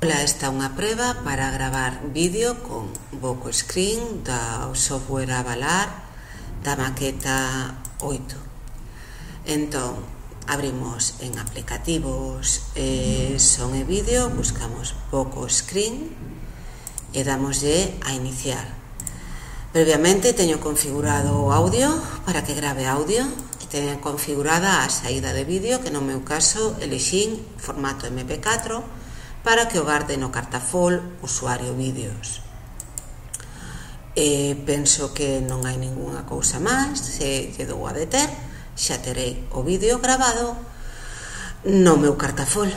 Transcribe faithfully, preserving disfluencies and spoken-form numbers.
Ola, esta é unha preba para gravar vídeo con Voco Screen do software Avalar da maqueta oito. Entón, abrimos en aplicativos, eh, son e vídeo, buscamos Voco Screen e damoslle a iniciar. Previamente teño configurado o audio para que grave audio e teño configurada a saída de vídeo, que no meu caso elixín formato eme pe catro para que o garde no cartafol usuario vídeos. E penso que non hai ningunha cousa máis. Se lle dou a deter, xa terei o vídeo gravado no meu cartafol.